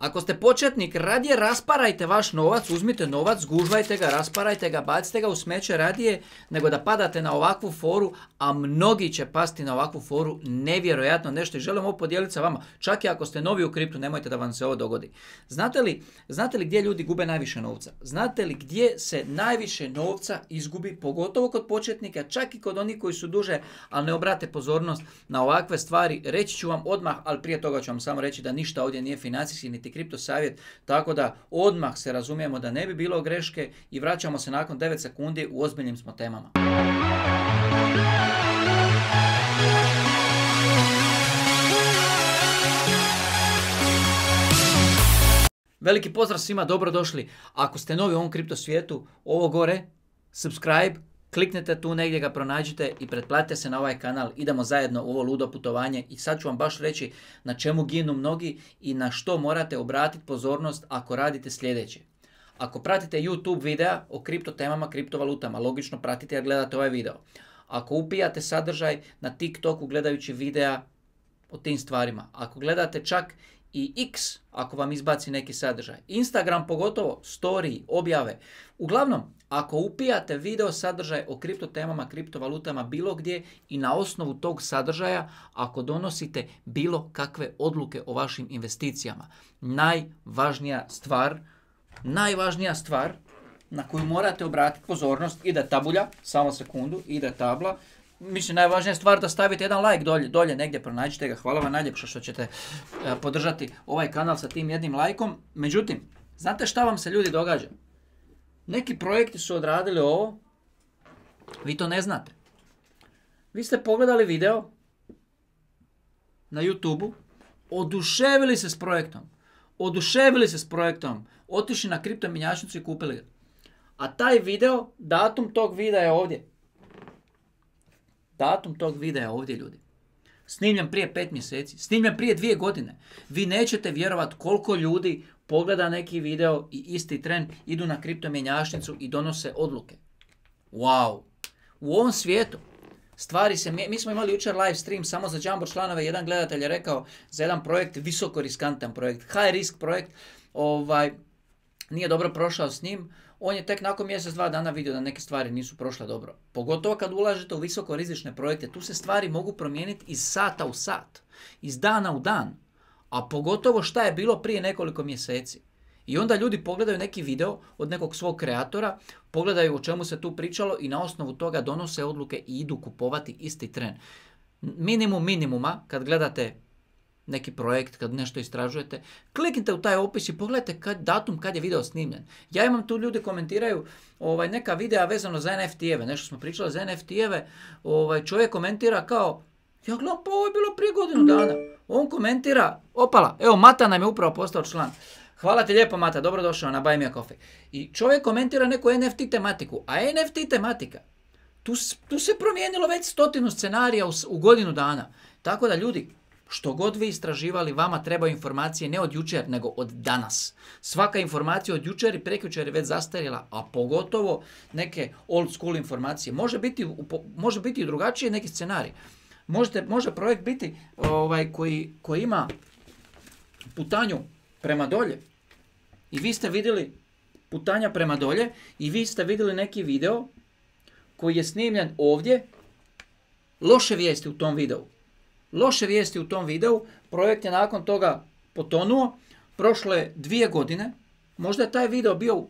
Ako ste početnik, radije rasparajte vaš novac, uzmite novac, zgužvajte ga, rasparajte ga, bacite ga u smeće radije, nego da padate na ovakvu foru, a mnogi će pasti na ovakvu foru, nevjerojatno nešto. I želim ovo podijeliti sa vama. Čak i ako ste novi u kriptu, nemojte da vam se ovo dogodi. Znate li gdje ljudi gube najviše novca? Znate li gdje se najviše novca izgubi, pogotovo kod početnika, čak i kod onih koji su duže, ali ne obrate pozornost na ovakve stvari? Reći ću vam odmah, ali prije toga ću vam samo reći da ništa ovdje nije financijski niti kripto savjet, tako da odmah se razumijemo da ne bi bilo greške i vraćamo se nakon 9 sekundi, u ozbiljnim smo temama. Veliki pozdrav svima, dobrodošli. Ako ste novi u ovom kripto svijetu, ovo gore, subscribe, kliknite tu negdje, ga pronađite i pretplatite se na ovaj kanal. Idemo zajedno u ovo ludo putovanje i sad ću vam baš reći na čemu ginu mnogi i na što morate obratiti pozornost ako radite sljedeće. Ako pratite YouTube videa o kripto temama, kriptovalutama, logično pratite jer gledate ovaj video. Ako upijate sadržaj na TikToku gledajući videa o tim stvarima, ako gledate čak i X ako vam izbaci neki sadržaj, Instagram pogotovo, story, objave. Uglavnom, ako upijate video sadržaj o kripto temama, kriptovalutama bilo gdje i na osnovu tog sadržaja, ako donosite bilo kakve odluke o vašim investicijama, najvažnija stvar na koju morate obratiti pozornost, ide tabulja, samo sekundu, ide tabla. Mislim, najvažnija stvar da stavite jedan like dolje negdje, pronađite ga. Hvala vam najljepše što ćete podržati ovaj kanal sa tim jednim lajkom. Međutim, znate šta vam se ljudi događa? Neki projekti su odradili ovo, vi to ne znate. Vi ste pogledali video na YouTube-u, oduševili se s projektom, otišli na kripto mjenjačnicu i kupili ga. A taj video, datum tog videa je ovdje. Datum tog videa je ovdje, ljudi. Snimljen prije 5 mjeseci, snimljen prije 2 godine. Vi nećete vjerovati koliko ljudi pogleda neki video i isti tren idu na kripto mjenjačnicu i donose odluke. Wow! U ovom svijetu stvari se... Mi smo imali jučer live stream samo za Jumbo članove. Jedan gledatelj je rekao za jedan projekt, visoko riskantan projekt, high risk projekt, nije dobro prošao s njim. On je tek nakon mjesec, 2 dana vidio da neke stvari nisu prošle dobro. Pogotovo kad ulažete u visoko rizične projekte, tu se stvari mogu promijeniti iz sata u sat, iz dana u dan. A pogotovo šta je bilo prije nekoliko mjeseci. I onda ljudi pogledaju neki video od nekog svog kreatora, pogledaju o čemu se tu pričalo i na osnovu toga donose odluke i idu kupovati isti tren. Minimum minimuma, kad gledate neki projekt, kad nešto istražujete, kliknite u taj opis i pogledajte datum kad je video snimljen. Ja imam tu, ljudi komentiraju neka videa vezano za NFT-eve, nešto smo pričali za NFT-eve, čovjek komentira kao, ja gledam, pa ovo je bilo prije godinu dana. On komentira, opala, evo Mata nam je upravo postao član. Hvala ti lijepo Mata, dobrodošao na Buy Me a Coffee. I čovjek komentira neku NFT tematiku, a NFT tematika, tu se promijenilo već 100 scenarija u godinu dana. Tako da, ljudi, što god vi istraživali, vama trebaju informacije ne od jučer, nego od danas. Svaka informacija od jučer i prekjučer je već zastarjela, a pogotovo neke old school informacije. Može biti i drugačije neki scenarij. Može projekt biti koji ima putanju prema dolje. I vi ste vidjeli putanja prema dolje i vi ste vidjeli neki video koji je snimljen ovdje. Loše vijesti u tom videu. Projekt je nakon toga potonuo. Prošle 2 godine. Možda je taj video bio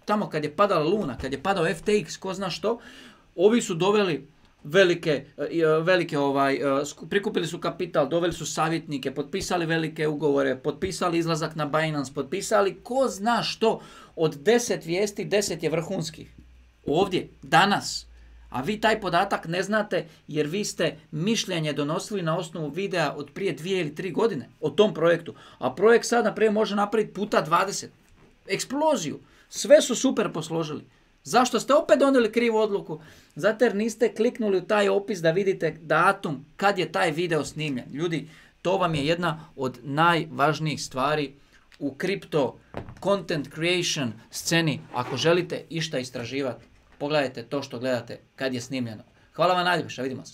tamo kad je padala Luna, kad je padao FTX, ko zna što. Ovi su doveli prikupili su kapital, doveli su savjetnike, potpisali velike ugovore, potpisali izlazak na Binance, potpisali ko zna što. Od 10 vijesti, 10 je vrhunskih. Ovdje, danas. A vi taj podatak ne znate jer vi ste mišljenje donosili na osnovu videa od prije 2 ili 3 godine o tom projektu. A projekt sad naprijed može napraviti puta 20. Eksploziju. Sve su super posložili. Zašto ste opet donijeli krivu odluku? Zato jer niste kliknuli u taj opis da vidite datum kad je taj video snimljen. Ljudi, to vam je jedna od najvažnijih stvari u kripto content creation sceni. Ako želite išta istraživati, pogledajte to što gledate kad je snimljeno. Hvala vam najljepše, vidimo se.